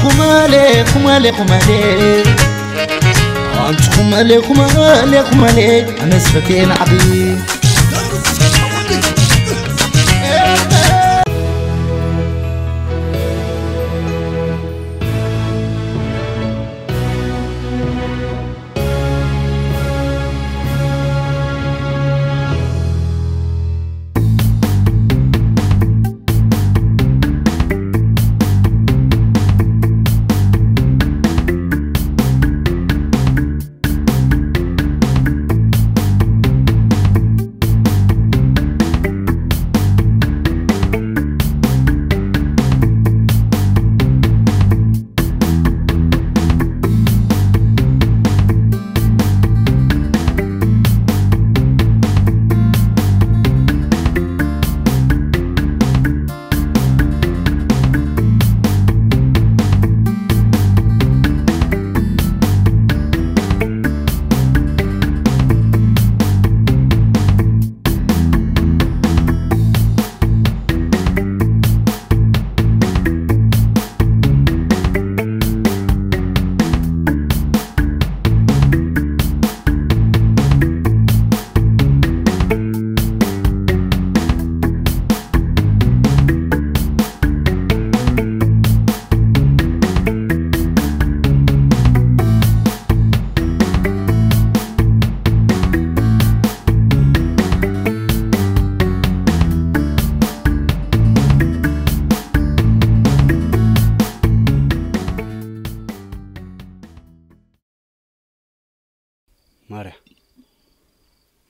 ኩመሌ ኩመሌ ኩመሌ ኣንቲ ኩመሌ ኩመሌ ኩመሌ ኣነስ ፈቴ ንዓዲ ማርያ፣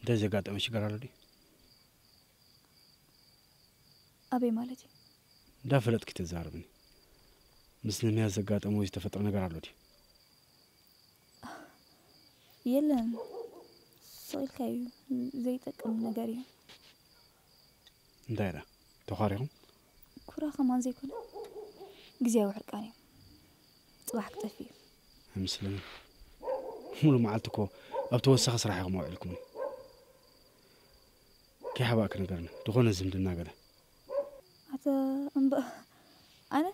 እንታይ ዘጋጠመ ሽግር ኣሎ ድዩ? ኣበይ ማለት እዩ? እንዳፈለጥኪ ተዛረብኒ። ምስ ነሚያ ዘጋጠመ ወይ ዝተፈጥረ ነገር ኣሎ ድዩ? የለን፣ ስቕ ኢልካ እዩ፣ ዘይጠቅም ነገር እዩ። እንታይ ደኣ ተዃሪኹም? ኩራ ከማን ዘይኮነ፣ ግዜያዊ ሕርቃን እዩ። ጽባሕ ክጠፍእ እዩ። ኣይመስለንን። ሙሉ መዓልቲ እኮ ኣብ ተወሳኺ ስራሕ ኢኹም ኣውዒልኩምኒ። ከይሓባእኪ ንገርኒ፣ ዝኾነ ዝምድና ገለ? ኣታ እምባ፣ ኣነ?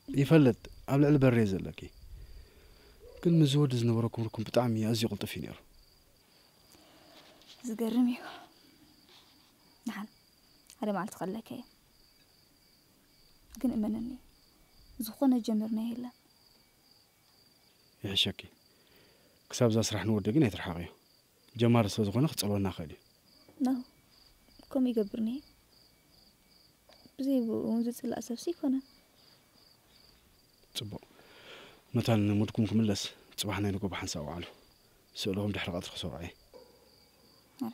ይፈልጥ፣ ኣብ ልዕሊ በረይ ዘለኪ። ግን ምስዚ ወዲ ዝነበረኩም ርኩም ብጣዕሚ ኣዝዩ ቅልጡፍ እዩ ነይሩ። ዝገርም እዩ። ደሓን ሓደ መዓልቲ ከለከ እየ። ግን እመነኒ፣ ዝኾነ ጀምርና የለን። ይሕሸኪ። ክሳብ እዛ ስራሕ ንወዲ ግን ኣይትርሓቕዮ። ጀማሪ ስለ ዝኾነ ክጸልወና ይኽእል እዩ። ኖ፣ ከምኡ ይገብር እኒሄ። ብዘይ ብኡ እውን ዝጽላእ ሰብሲ ኣይኮነን። ጽቡቕ። መታን ንሙድኩም ክምለስ፣ ጽባሕ ናይ ንጎ ብሓንሳእ ወዓሉ። ስእልኹም ድሕሪ ቀትሪ ክሰርዖ እየ። ኣረ።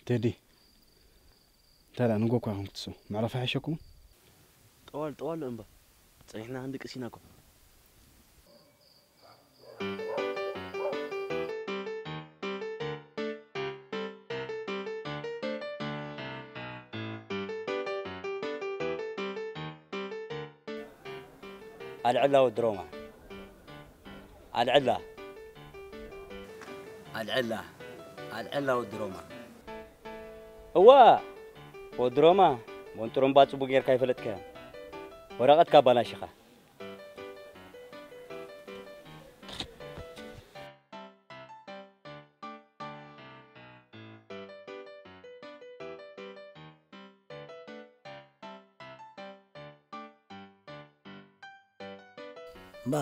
ቴዲ፣ እንታይ ደኣ ንጎ እኳ ኢኹም ክትስኡ፣ መዕረፊ ኣይሓሸኩምን? ጠዋል፣ ጠዋል እምባ፣ ጸኒሕና ክንድቅስ ኢና እኮ። ኣልዕላ ወዲ ሮማ። ኣልዕላ። ኣልዕላ። ኣልዕላ ወዲ ሮማ። እዋ፣ ወዲ ሮማ፣ ቦን ጥሩምባ ጽቡቅ ጌርካ ኣይፈለጥካዮን። ወረቐትካ ኣባላሺኻ። እምባ፣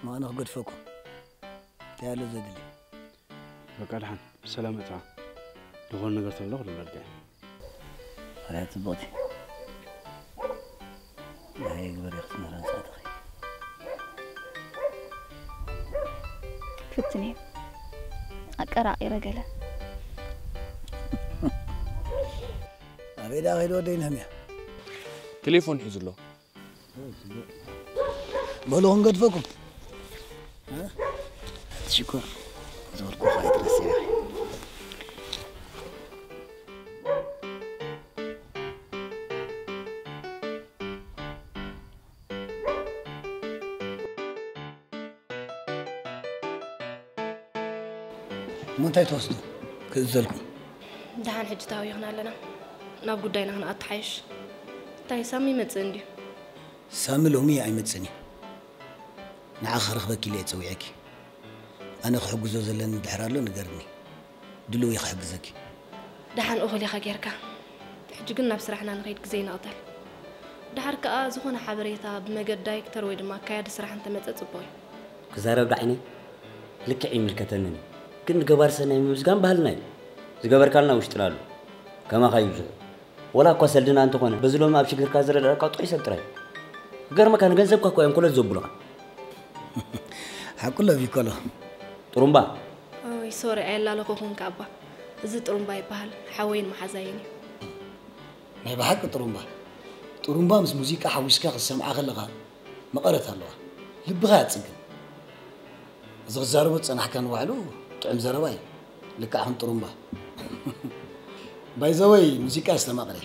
ማእነ ክገድፈኩም። እንታይ ኣሎ ዘድሊ? በቃ፣ ደሓን ብሰላም እታ። ዝኾነ ነገር ተሎ ክደውለልካ እየ። ኣርያ ጽቡቕቲ። ናይ ግበር ክትምህረን ሳተኺ። ክፍትን እየ። ኣቀራቒረ ገለ። ኣበይ ደኣ ከይዱ ወደይ ነህምያ? ቴሌፎን ሒዙ ኣሎ። በሉ ክንገድፈኩም። እ? ሽኮር፣ ዝወርኩ ከኣ ይትረስያ። እሞ እንታይ ትወስዱ? ክእዘዝኩም። ደሓን ሕጂ ታዊኽና ኣለና። ናብ ጉዳይና ክንኣተሓይሽ። እንታይ ሳሚ ይመጽእ እንድዩ? ሳሚ ሎሚ ኣይመጽእን እዩ። ንዓኺ ክረኽበኪ ኢለ እየ ጸዊዐኪ። ኣነ ክሕግዞ ዘለኒ እንድሕር ኣሎ ንገርኒ። ድሉው እየ ክሕግዘኪ። ደሓን እኹል ኢኻ ጌርካ። ሕጂ ግን ናብ ስራሕና ንኸይድ ግዜ ይንቕተል። ደሓር ከኣ ዝኾነ ሓበሬታ ብመገድ ዳይሬክተር ወይ ድማ ኣካያዲ ስራሕ እንተመጸ ጽቡቕ እዩ። ክዛረብ ዳዕኒ ልክዕ ይምልከተንን እዩ። ግን ንገባር ሰናይ ምምስጋን ባህልና እዩ። ዝገበርካልና ውሽጥና ኣሎ። ከማኻ ይብዝሑ። ወላ እኳ ሰልድና እንተኾነ በዚ ሎሚ ኣብ ሽግርካ ዝረዳእካ ጥዑይ ሰብ ጥራይ። ክገርመካ ንገንዘብካ እኳ እዮም ኮለል ዘብሉኻ። ሓቁሎ ቢኮሎ። ጥሩምባ ኦይ ሶሪ ኣየላለኹኹን ከኣባ። እዚ ጥሩምባ ይበሃል። ሓወይን መሓዛይን እዩ። ናይ ብሓቂ ጥሩምባ። ጥሩምባ ምስ ሙዚቃ ሓዊስካ ክትሰምዓ ከለኻ መቐረት ኣለዋ። ልብኻ ያጽግን። እዚ ክዛረቦ ዝጸናሕካ ንባዕሉ ጥዑም ዘረባ እዩ። ልክዕ ከም ጥሩምባ። ባይዘወይ ሙዚቃ ኣስተማቕረ።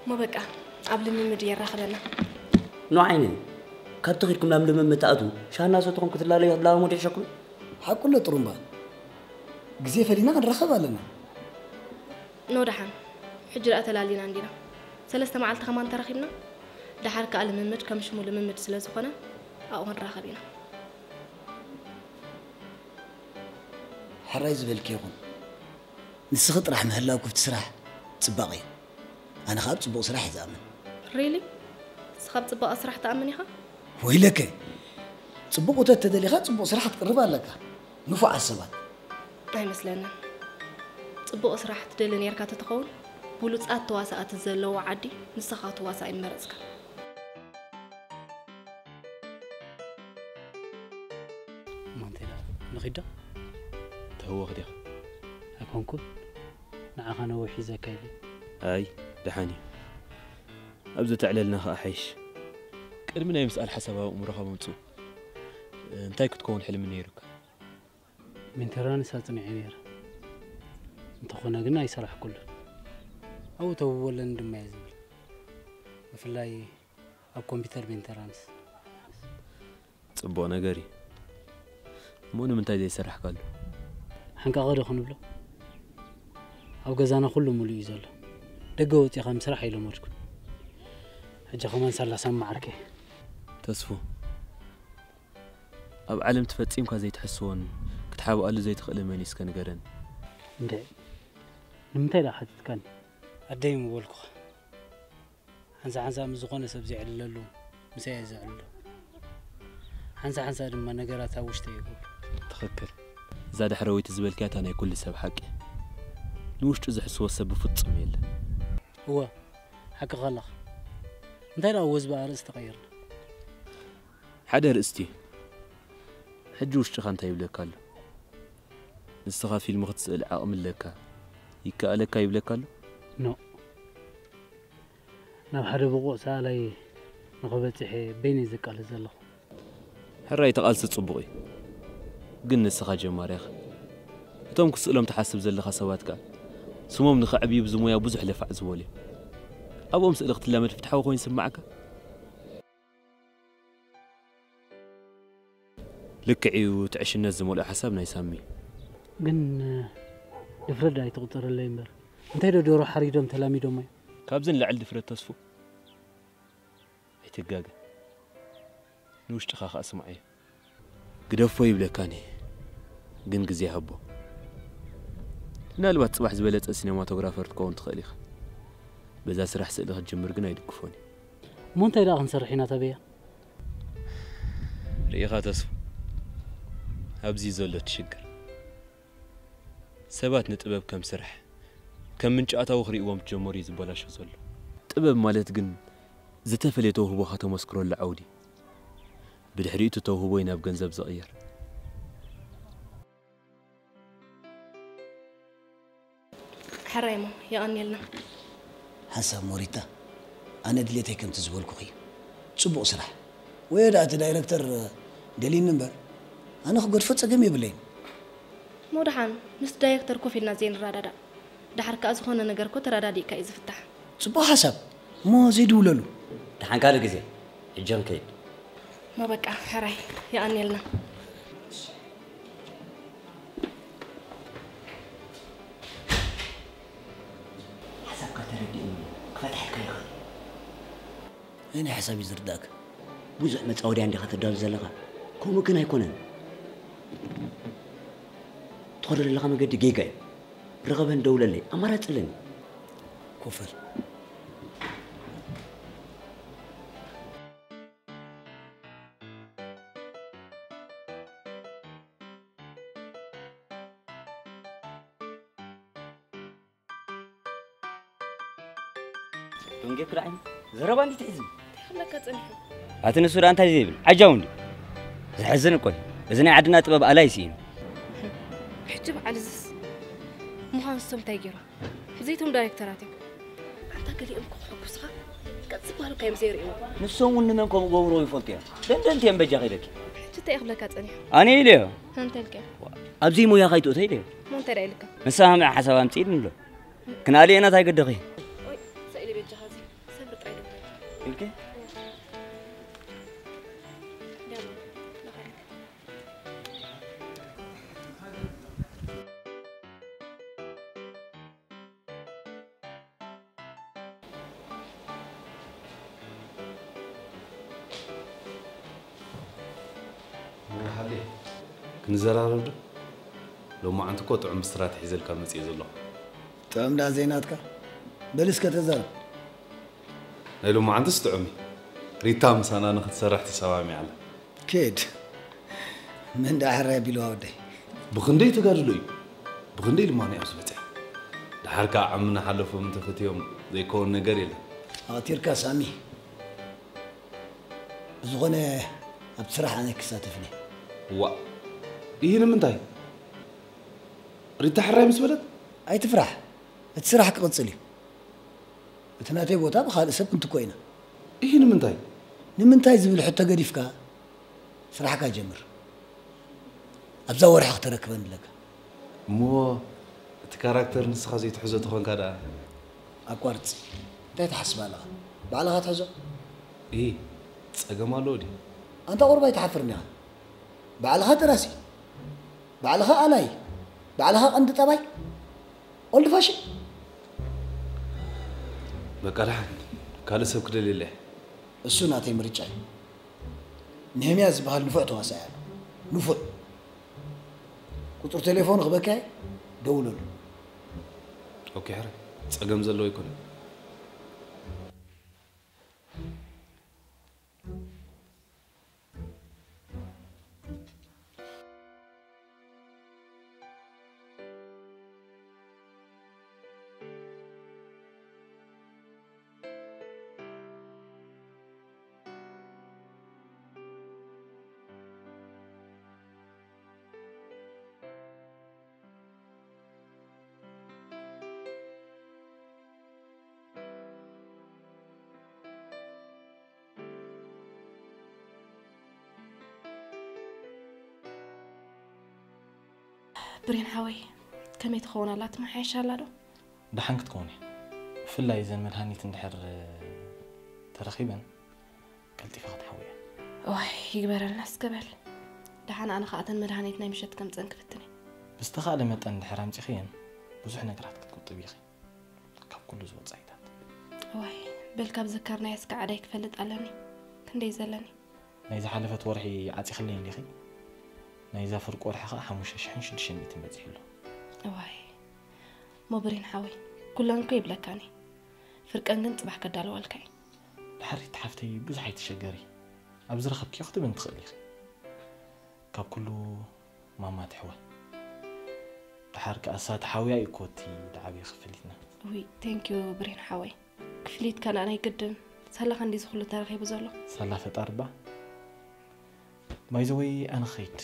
እሞ በቃ ኣብ ልምምድ የራኽበና። ኖ ዓይነይ ካብቲ ኺድኩም ናብ ልምምድ ትኣትዉ ሻሂ እናሰተኹም ክትላለዩ ክትላመሙ ድሕሸኩም። ሓቁሎ ጥሩምባ። ግዜ ፈሊና ክንራኸብ ኣለና። ኖ ደሓን። ሕጂ ደኣ ተላሊና እንዲና። ሰለስተ መዓልቲ ከማን ተራኺብና። ደሓር ከኣ ልምምድ ከም ሽሙ ልምምድ ስለ ዝኾነ ኣብኡ ክንራኸብ ኢና። ሕራይ ዝበልኪ ይኹን። ንስኺ ጥራሕ ምህላው ክፍቲ ስራሕ ጽባቕ እዩ። ኣነ ኸኣ ኣብ ጽቡቕ ስራሕ እየ ዝኣምን። ሪሊ? ንስኻ ኣብ ጽባቐ ስራሕ ትኣምን ኢኻ? ወይለከ! ጽቡቕ ውተት ተደሊኻ ጽቡቕ ስራሕ ክትቅርብ ኣለካ። ንፉዓት ሰባት። ኣይመስለንን። ጽቡቕ ስራሕ ትደሊ ኔርካ ተትኸውን ብሉጻት ተዋሳእቲ ዘለዎ ዓዲ ንስኻ ክትዋሳእ ይመረጽካ። ማንቴላ ንኺዳ ተህወኽ ዲኻ? ኣይኮንኩን ንዓኻ ነዊሕ ሒዘካ ኢለ። ኣይ ደሓን እዩ። ኣብ ዘተዕለልና ኸኣ ሓይሽ። ቅድሚ ናይ ምስኣል ሓሳብ ኣብ ኣእምሮኻ ምምጽኡ እንታይ ክትከውን ሕልሚ ነይሩካ? ሜንተራንስ ኣጽኒዐ ነይረ። እንተኾነ ግን ኣይሰራሕኩሉን። ኣብኡ ተውበለኒ ድማ እየ ዝብል። ብፍላይ ኣብ ኮምፒተር ሜንተራንስ። ጽቡቕ ነገር እዩ። እሞ ንምንታይ ዘይሰራሕካሉ? ሓንቃቐ ዶ ክንብሎ? ኣብ ገዛና ኩሉ ሙሉእ እዩ ዘሎ። ደገ ወጺኻ ምስራሕ ኣይለመድኩን። ሕጂ ከማን ሳላ ሳማ ዓርከይ። ተስፉ ኣብ ዓለም ትፈጺምካ ዘይትሕስቦን ክትሓብኣሉ ዘይትኽእልን መን እዩ እስከ ንገረኒ። እንድዒ ንምንታይ ደኣ ሓቲትካኒ? ኣደይ ምበልኩኻ። ሓንሳ ሓንሳ ምስ ዝኾነ ሰብ ዘዕልለሉ ምሳይ እየ ዘዕልሎ። ሓንሳ ሓንሳ ድማ ነገራት ኣብ ውሽጠይ እገብሮ። ትኽክል። እዛ ዳሕረወይቲ ዝበልክያ እታ ናይ ኩሉ ሰብ ሓቂ እያ። ንውሽጡ ዝሕስቦ ሰብ ብፍጹም የለን። እወ ሓቅኻ ኣለኻ። እንታይ ደኣ ወዝቢ ኣርእስቲ ቀይርና? ሓደ ኣርእስቲ እዩ። ሕጂ ውሽጥኻ እንታይ ይብለካ ኣሎ? ንስኻ ፊልም ክትስእል ዓቕሚ ኣለካ፣ ይከኣለካ ይብለካ ኣሎ? ኖእ። ናብ ሓደ ብቑዕ ሰኣላይ ንኽበጽሕ እየ በይነይ ዝቃለስ ዘለኹ። ሕራይ እቲ ቃልሲ ጽቡቕ እዩ፣ ግን ንስኻ ጀማሪ ኢኻ። እቶም ክስእሎም ትሓስብ ዘለኻ ሰባት ከኣ ስሞም ንኸዕብዩ ብዚ ሞያ ብዙሕ ለፋዕ ዝበሉ እዮም። ኣብኦም ስእሊ ክትላመድ ፍትሓዊ ኮይኑ ይስምዓካ? ልክዕ እዩ፣ እቲ ዕሽነት ዝመልኦ ሓሳብ ናይ ሳሚ። ግን ድፍረት ደኣ ኣይትቑጸረለይ እምበር፣ እንታይ ዶ ደርሆ ሓሪዶም ተላሚዶማ እዮም? ካብዚ ንላዕሊ ድፍረት ተስፉ ኣይትጋገ። ንውሽጥኻ ከኣ ስምዓዮ። ግደፎ ይብለካን እየ፣ ግን ግዜ ሃቦ። ምናልባት ጽባሕ ዝበለጸ ሲነማቶግራፈር ክትከውን ትኽእል ኢኻ። በዛ ስራሕ ስእሊ ክትጅምር ግን ኣይድግፎን እየ። እሞ እንታይ ደኣ ክንሰርሕ ኢና ተበያ? ርኢኻ ተስፉ፣ ኣብዚ እዩ ዘሎ እቲ ሽግር። ሰባት ንጥበብ ከም ስራሕ፣ ከም ምንጪ ኣታዊ ክርእይዎ ምስ ጀመሩ እዩ ዝበላሾ ዘሎ። ጥበብ ማለት ግን ዝተፈልየ ተውህቦኻ ተመስክረሉ ዓውዲ፣ ብድሕሪኡ እቲ ተውህቦ እዩ ናብ ገንዘብ ዝቕየር። ሕራይ እሞ የቐንየልና። ሓንሳብ ሞሪታ፣ ኣነ ድሌተይ ከምቲ ዝበልኩኺ እዩ። ጽቡቕ ስራሕ። ወዮ ደኣ እቲ ዳይረክተር ደልዩኒ እምበር፣ ኣነ ክገድፎ ጸገም የብለይን። እሞ ደሓን ምስቲ ዳይረክተር ኮፍ ኢልና ዘይንረዳዳእ? ደሓር ከኣ ዝኾነ ነገር እኮ ተረዳዲእካ እዩ ዝፍታሕ። ጽቡቕ ሓሳብ። እሞ ዘይድውለሉ። ደሓን ካልእ ግዜ። ሕጂ ክንከይድ። እሞ በቃ ሕራይ የቐንየልና። ናይ ሓሳብ እዩ ዝርዳእካ። ብዙሕ መጻወድያ እንዲኻ ተዳሉ ዘለኻ። ከምኡ ግን ኣይኮነን። ትኸዶ ዘለኻ መገዲ ጌጋ እዩ። ርኸበን ደውለለይ። ኣማራጺ ኣለኒ። ኮፈል። ደንጌ ክዳዕኝ ዘረባ እንዲት ሒዝም። እንታይ ክብለካ ጸኒሑ? ኣቲ ንሱ ደኣ እንታይ ዘይብል? ዓጃው እንዲ። ዘሕዝን እኮ እዩ። እዚ ናይ ዓድና ጥበብ ኣላይ ስኢኑ። ሕጂ በዓል እዝስ ምዃን ንሶም እንታይ ገይሮም? ዘይቶም ዳይሬክተራት እዮም። ኣንታ ገሊኦም እኮ ክሕጉስኻ ቀጽ ባሉ ካዮም ዘይርእይዎ። ንሶም እውን ንመን ከምኡ ገብርዎ ይፈልጡ እዮም። ደንደንቲ እዮም በጃ ከይደኪ። ሕጂ እንታይ ክብለካ ጸኒሑ? ኣነ ኢለዮ። እንታይ ኢልካ? ኣብዚ ሞያ ካይትእቶ ኢለዮ። እሞ እንታይ ደኣ ኢልካ? ንሳ ሃምዕ ሓሳብ ኣምጽእ ኢሉኒ ኣሎ። ክንኣልየና እንታይ ገደኺ? ወይ፣ ስእሊ በጃኻ እዚ ሰብሪ ጥራይ ደውለለይ። ኢልኪ? ዳማ፣ ዳኻ ኢልካ። መርሓቤ። ክንዘራረብ ዶ? ሎማዓንቲ እኮ ጥዑም ብስራት ሒዘልካ መጺኤ ዘለኹ። ጥዑም ደኣ ዘይናትካ? በል እስከ ተዛረብ። ናይ ሎማዓንትስ ጥዑም እዩ። ሪታ ምሳና ንኽትሰርሕ ተሰማሚዓ ኣላ። ኪድ። መን ደኣ ሕራይ ኣቢልዋ ወደይ? ብኽንደይ ተጋድሎ እዩ። ብኽንደይ ድማ ናይ ኣብዚ በጽሐ። ደሓር ከኣ ዓሚ እናሓለፎም እንተፈትዮም ዘይከውን ነገር የለን። ኣቕቲርካ ሳሚ። ብዝኾነ ኣብቲ ስራሕ ኣነ ኣይክሳተፍን እየ። ዋእ! ኢሂ ንምንታይ? ሪታ ሕራይ ምስ በለት? ኣይትፍራሕ። እቲ ስራሕ ክቕጽል እዩ። እቲ ናተይ ቦታ ብኻልእ ሰብ ክንትኮ ኢና። ኢሂ ንምንታይ? ንምንታይ ዝብል ሕቶ ገዲፍካ ስራሕካ ጀምር። ኣብዛ ወርሒ ክተረክበኒ ኣለካ። እሞ እቲ ካራክተር ንስኻ ዘይትሕዞ ተኾንካ ደኣ? ኣቋርጽ። እንታይ ትሓስብ ኣለኻ? ባዕልኻ ትሕዞ። ኢሂ ጸገም ኣለዎ ድዩ? ኣንታ ቁሩብ ኣይትሓፍርን ኢኻ። ባዕልኻ ደራሲ፣ ባዕልኻ ኣላይ፣ ባዕልኻ ቀንዲ ጠባይ። Old fashion። በቃ ደሓን ካልእ ሰብ ክደልየላ እየ። እሱ ናተይ ምርጫ እዩ። ነህምያ ዝበሃል ንፉዕ ተዋሳኣይ ኣሎ። ንፉዕ። ቁጽሪ ቴሌፎኑ ክበካ እየ፣ ደውለሉ። ኦኬ ሕራይ ጸገም ዘለዎ ኣይኮነን። ብሬን ሓወይ፣ ከመይ ትኸውን ኣላ? ትመሓየሽ ኣላ ዶ? ደሓን ክትከውን እያ። ብፍላይ እዘን መድሃኒት እንድሕር ተረኺበን ቀልጢፋ ክትሓዊ እያ። እዋይ ይግበረልና እስከ በል። ደሓን ኣነ ኸዓ እተን መድሃኒት ናይ ምሸት ከምፀን ክፍትን እየ። ብዝተኻእለ መጠን እንድሕር ኣምፂኽየን ብዙሕ ነገራት ክትቁጥቢ ኢኺ። ካብ ኩሉ ዝወፃኢታት። እዋይ በል ካብ ዘከርናዮስ ከዓ ኣዳይ ክፈልጥ ኣለኒ። ክንደይ ዘለኒ። ናይ ዝሓለፈት ወርሒ ዓፂኽለይ እንዲኺ? ናይዛ ፍርቂ ወርሒ ከዓ ሓሙሽተ ሽሕን ሽዱሽተ ሚእትን በፂሑ ኣሎ። እዋይ እሞ ብሬን ሓወይ ኩለን እኮ ይብለካን እየ። ፍርቀን ግን ፅባሕ ከዳልወልካ እየ። ድሓሪት ሓፍተይ ብዙሕ ኣይትሸገሪ። ኣብ ዝረኸብክዮ ክትብን ትኽእሊ ኢኺ። ካብ ኩሉ ማማ ትሕዋ። ድሓር ከኣ እሳ ተሓውያ እዩ እኮ እቲ ዝዓበየ ክፍሊትና። ውይ thank you ብሬን ሓወይ። ክፍሊት ካልኣ ናይ ግድን ሳላኻ እንድዩ እዚ ኩሉ ተረኺቡ ዘሎ። ሳላ ፈጣሪ እባ። By the way ኣነ ክኸይድ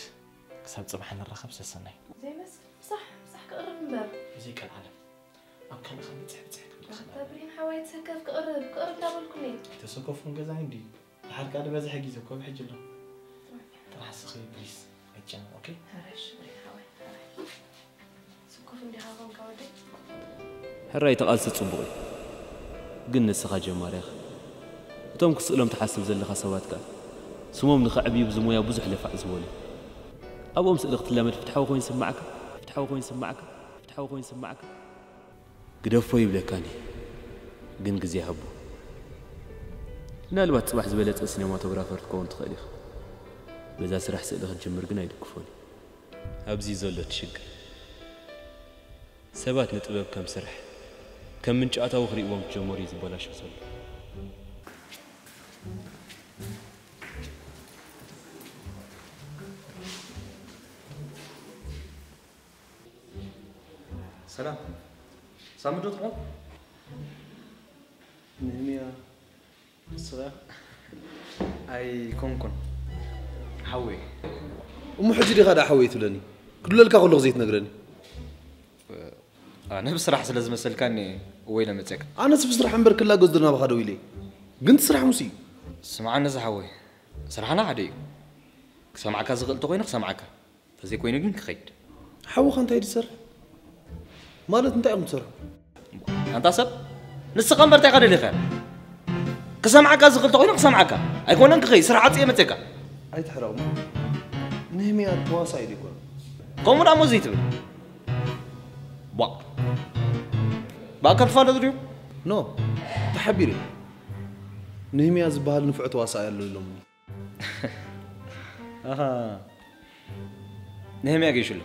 ክሳብ ጽባሕ ንራኸብ ሰሰናዩ። ዘይመስል ምሳሕ ምሳሕ ክቕርብ እምበር። ብዘይ ቀልዓለም ኣብ ካልእ ከም ብጽሕ ብጽሕ ትብል ትኽእል ኣላ። ኣታ ብሬን ሓወይ ተሰከፍ ክቕርብ ክቕርብ እንዳበልኩኒ። ኣይተሰከፍኩን ገዛይ እንድዩ። ድሓር ከኣ ዝበዝሐ ግዜ እኮ ኣብ ሕጂ ኣሎ። ጥራሕ ስኺ ፕሊስ ኣይትጨነቕ ኦኬ። ሕራይ እሺ ብሬን ሓወይ ሕራይ። ስኩፍ እንዲኻ ኮንካ ወደይ። ሕራይ እቲ ቃልሲ ጽቡቕ እዩ ግን ንስኻ ጀማሪ ኢኻ። እቶም ክስእሎም ትሓስብ ዘለኻ ሰባት ከኣ ስሞም ንኸዕብዩ ብዚ ሞያ ብዙሕ ለፋዕ ዝበሉ እዮም። ኣብኦም ስእሊ ክትላመድ ፍትሓዊ ኮይኑ ይስምዓካ? ፍትሓዊ ኮይኑ ይስምዓካ? ፍትሓዊ ኮይኑ ይስምዓካ? ግደፎ ይብለካን እየ ግን ግዜ ሃቦ። ምናልባት ጽባሕ ዝበለጸ ሲነማቶግራፈር ክትከውን ትኽእል ኢኻ። በዛ ስራሕ ስእሊ ክትጅምር ግን ኣይድግፎን እየ። ኣብዚ እዩ ዘሎ እቲ ሽግር። ሰባት ንጥበብ ከም ስራሕ፣ ከም ምንጪ ኣታዊ ክርእይዎም ክጀመሩ እዩ ዝበላሾ ዘሎ። ሰላም። ሳሚ ዶ ትኾን? ንህምያ፣ ንስኻ? ኣይኮንኩን። ሓወይ። እሞ ሕጂ ዲኻ ደኣ ሓወይ ትብለኒ? ክድውለልካ ከለኹ ዘይትነግረኒ? ኣነ ብስራሕ ስለ ዝመሰልካኒ እወ ኢለ መፅየካ። ኣነስ ብስራሕ እምበር ክላገዝ ዶ ናባኻ ደው ኢለ? ግን እቲ ስራሕ ሙስ እዩ። ስምዓኒ እዚ ሓወይ፣ ስራሕና ሓደ እዩ። ክሰምዓካ ዝኽእል እንተኾይኑ ክሰምዓካ፣ እንተዘይኮይኑ ግን ክኸይድ። ሓውኻ እንታይ ድሰርሕ? ማለት እንታይ እዮም ትሰርሑ? ኣንታ ሰብ፣ ንስኻ እምበር እንታይ ኢኻ ደሊኻ? ክሰምዓካ ዝኽእል እንተኾይኑ ክሰምዓካ፣ ኣይኮነን ክኸይድ፣ ስራሕ ዓፅየ መፅየካ። ኣይትሕረቕ እሞ። ንህምያ ተዋሳኢ ዶ ይኮነ? ከምኡ ደኣ እሞ ዘይትብል። ቧ። ብኣካል ትፋለጡ ድዩ? ኖ፣ ተሓቢረ። ንህምያ ዝበሃል ንፉዕ ተዋሳኢ ኣሎ ኢሎምኒ። ኣሃ። ንህምያ ገይሹ ኣሎ።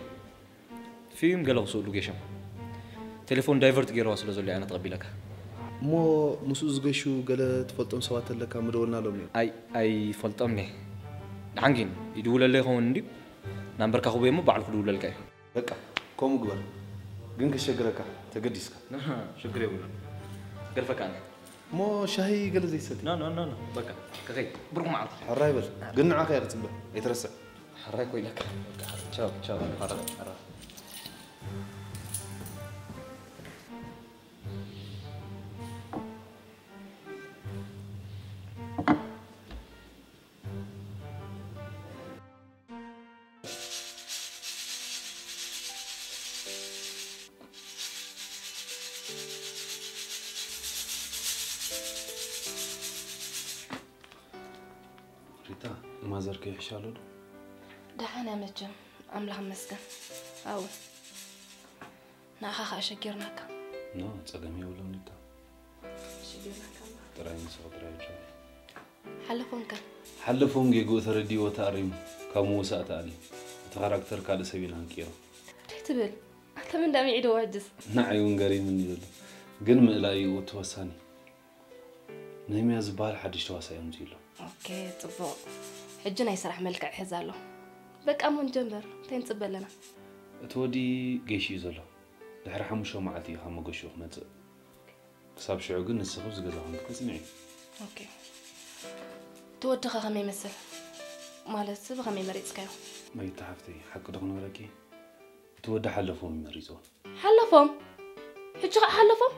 ፊልም ገለ ክስእሉ ገይሾም። ቴሌፎን ዳይቨርት ገይረዋ ስለ ዘሎ እየ ኣነ ተቐቢለካ። እሞ ምስኡ ዝገሹ ገለ ትፈልጦም ሰባት ኣለካ ምደወልናሎም እዮም። ኣይ፣ ኣይፈልጦምን እየ። ደሓን ግን ይድውለለይ ይኸውን እንድዩ? ናምበርካ ክህቦ እሞ ባዕሉ ክድውለልካ እዩ። በቃ፣ ከምኡ ግበር። ግን ከሸግረካ ተገዲስካ። ኣሃ፣ ሽግር የብሉን። ገድፈካ ኣነ። እሞ ሻሂ ገለ ዘይትሰቲ? ኖ፣ ኖ፣ ኖ፣ ኖ። በቃ፣ ክኸይድ። ብሩኽ መዓልቲ። ሕራይ በል። ግን ንዓኻ እየ ክጽበ። ኣይትረስዕ። ሕራይ ኮይለካ። ቻው፣ ቻው። ሕራይ፣ ሕራይ። ሪታ፣ ማዘር ከይሕሻ ኣሎ ዶ? ደሓን እያ መቸም፣ ኣምላኽ ይመስገን። ኣው፣ ንኣኻ ኸኣ ሸጊርናካ። ኖ፣ ጸገም የብሉን ሪታ። ሸጊርናካ እምበር። ጥራይ ንስኺ ጥራይ ጆ። ሓለፎም ከ? ሓለፎም ጌግኡ ተረዲእዎ ተኣሪሙ፣ ካብ ምውሳእ ተኣልዩ። እቲ ካራክተር ካልእ ሰብ ኢና ንቅይሮ። እንታይ ትብል? ኣንታ መን ደኣ ሚዒድዎ ሕጅስ? ንዓይ እውን ገሪሙኒ ዘሎ። ግን ምእላዩ እዩ እቲ ወሳኒ። ነህምያ ዝበሃል ሓድሽ ተዋሳኢ ኣምጺኡ ኣሎ። ኦኬ፣ ጽቡቕ። ሕጂ ናይ ስራሕ መልክዕ ይሕዝ ኣሎ። በቃ እሞ ንጀምር። እንታይ ንጽበ ኣለና? እቲ ወዲ ገይሹ እዩ ዘሎ። ድሕሪ ሓሙሽተ መዓልቲ እዩ ካብ መገሽኡ ክመጽእ። ክሳብ ሽዑ ግን ንስኺ ኣብዚ ገዛ ኮንኪ ክትጽንዒ። ኦኬ። እቲ ወድኸ ከመይ ይመስል? ማለት ብኸመይ መሪጽካዮ? መይታ ሓፍተይ፣ ሓቂ ዶ ክነግረኪ? እቲ ወዲ ሓለፎም እዩ መሪጽዎ። ሓለፎም? ሕጂ ኸኣ ሓለፎም?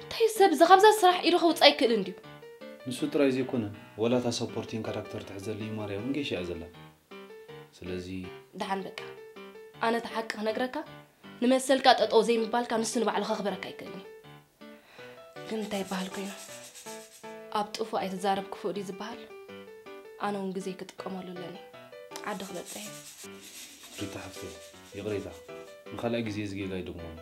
እንታይ ሰብ እዚ ካብዛ ስራሕ ኢዱ ከውጽእ ኣይክእልን ድዩ? ንሱ ጥራይ ዘይኮነ፣ ወላ እታ ሰፖርቲንግ ካራክተር ትሕዘለይ ማርያ እውን ገይሻ እያ ዘላ። ስለዚ ደሓን በቃ። ኣነ እቲ ሓቂ ክነግረካ፣ ንመሰልካ ጠጠው ዘይምባልካ ንሱ ንባዕሉ ከኽብረካ ኣይክእልን እዩ። ግን እንታይ ይበሃል ኮይኑ? ኣብ ጥፉእ ኣይትዛረብ ክፉእ ድዩ ዝበሃል? ኣነ እውን ግዜ ክጥቀመሉ ኣለኒ። ዓዲ ክበጽሕ እየ። ሪታ ሓፍተይ፣ ይቕሬታ። ንኻልኣይ ግዜ እዚ ጌጋ ኣይደግሞን።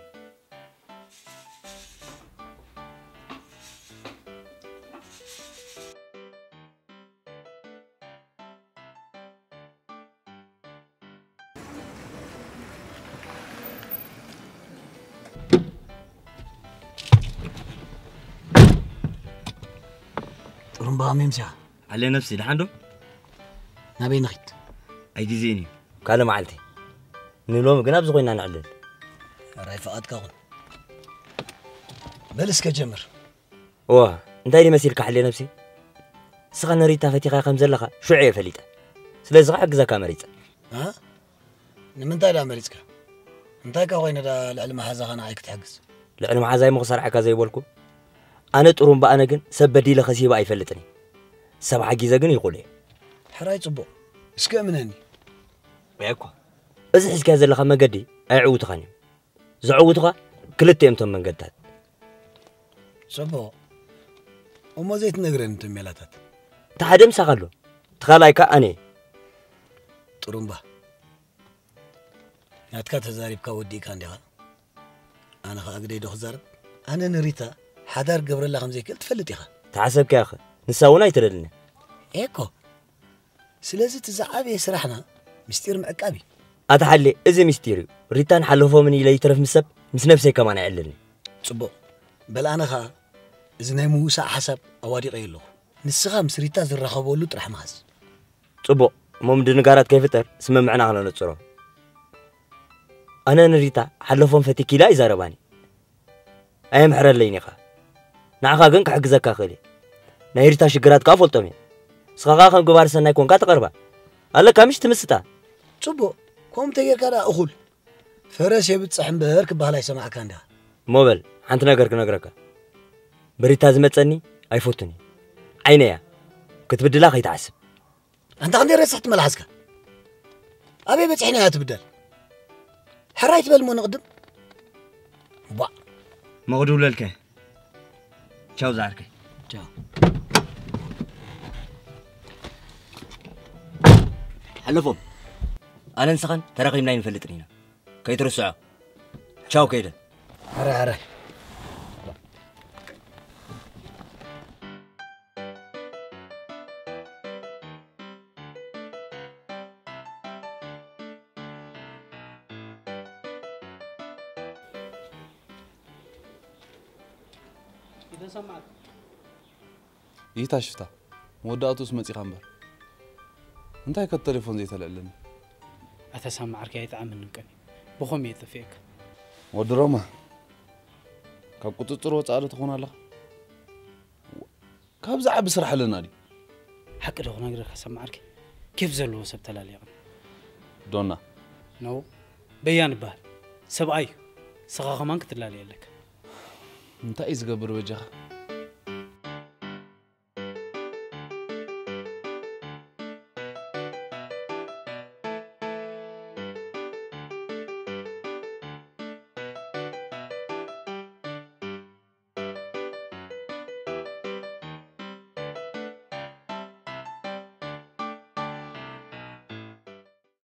ጥሩምባ ከመይ ምሲኻ? ዓለ ነብሲ፣ ደሓን ዶ? ናበይ ንኺድ? ኣይግዜን እዩ። ካልእ መዓልቲ። ንሎሚ ግን ኣብዚ ኮይና ንዕልል። ሕራይ ፍቓድካ ኩን። በል እስከ ጀምር። እዋ፣ እንታይ ድዩ መሲልካ ሓልየ ነብሲ? ንስኻ ንሪታ ፈቲኻያ ከም ዘለኻ ሽዑ እየ ፈሊጠ። ስለዚ ኸዓ ክሕግዘካ መሪጸ። እ? ንምንታይ ደኣ መሪጽካ? እንታይ ከ ኮይነ ደኣ ልዕሊ መሓዛኻ ንዓይ ክትሕግዝ? ልዕሊ መሓዛይ እሞ ክሰርዓካ ዘይበልኩ? ኣነ ጥሩምባ ኣነ ግን ሰብ በዲለ ከሲበ ኣይፈልጥን እየ። ሰብ ሓጊዘ ግን ይኹል እየ። ሕራይ ጽቡቕ። እስከ እምነኒ። እየ እኮ። እዚ ሒዝካዮ ዘለኻ መገዲ ኣየዕውትኻን እዩ። ዘዕውቱኻ ክልተ እዮም እቶም መንገድታት። ጽቡቕ። እሞ ዘይትነግረኒ እቶም ሜላታት? እቲ ሓደ ምሳኻ ኣሎ፣ እቲ ካልኣይ ከኣ ኣነ እየ። ጥሩምባ፣ ናትካ ተዛሪብካ ወዲእካ እንዲኻ? ኣነ ኸኣ ግደይ ዶ ክዛረብ? ኣነ ንሪታ ሓዳር ክገብረላ ከም ዘይክእል ትፈልጥ ኢኻ። ተሓሰብካዮኸ? ንሳ እውን ኣይትደልን። ኤኮ ስለዚ እቲ ዝዓበየ ስራሕና ምስጢር ምዕቃብ እዩ። ኣታ ሓሌ፣ እዚ ምስጢር እዩ። ሪታን ሓለፎምን ኢለ ይትረፍ ምስ ሰብ፣ ምስ ነብሰይ ከማን ኣይዕልልን። ጽቡቕ። በል ኣነ ኸኣ እዚ ናይ ምውሳእ ሓሳብ ኣዋዲቐዮ ኣለኹ። ንስኻ ምስ ሪታ ዝራኸበሉ ጥራሕ መሃዝ። ጽቡቕ። እሞ ምድንጋራት ከይፍጠር ስምምዕና ክነነጽሮ። ኣነ ንሪታ ሓለፎም ፈቲኪላ ይዛረባኒ። ኣየምሕረለይን ኢኻ። ንዓኻ ግን ክሕግዘካ ክእል እየ። ናይ ሪታ ሽግራት ከኣ ፈልጦም እየ። ንስኻ ከኣ ከም ግባር ሰናይ ኮንካ ትቐርባ። ኣለካ ምሽ ትምስጣ። ጽቡቕ። ከምኡ ተጌርካ ደኣ እኹል። ፈረስ የብጽሕ እምበር ክበሃል ኣይሰማዕካ እንዲኻ። እሞ በል ሓንቲ ነገር ክነግረካ። ብሪታ ዝመጸኒ ኣይፈቱን እየ። ዓይነያ ክትብድላ ከይትሓስብ። ኣንታ ክንደይ ረሳሕ ትመላሓስካ። ኣበይ በጺሕና እያ ትብደል። ሕራይ ትበል እሞ ንቕድም። ቧዕ። መቕድውለልከ። ቻው ዝዓርከይ። ቻው። ሓለፎም። ኣነን ስኻን ተራኺብና ኣይንፈልጥን ኢና። ከይትርስዖ። ቻው ከይደ። ሕራይ ሕራይ። ይታ ሽፍታ መወዳእቱስ መጺኻ እምበር እንታይ ከ ተሌፎን ዘይተልዕለኒ? ኣታ ሳማ ዓርከይ ኣይጠዓመንን ቀኒ ብኸም እየ ጠፊእካ። ወዲ ሮማ ካብ ቁጽጽር ወጻኢ ዶ ትኾን ኣለኻ? ካብ ዝዓቢ ስራሕ ኣለና ድዩ? ሓቂ ዶ ክነግረካ ሳማ ዓርከይ ኬፍ ዘለዎ ሰብ ተላልየቕኒ። ዶና ነው በያን ይበሃል ሰብኣይ እዩ። ስኻ ከማን ክትላለየ ኣለካ። እንታይ እዩ ዝገብር በጃኻ?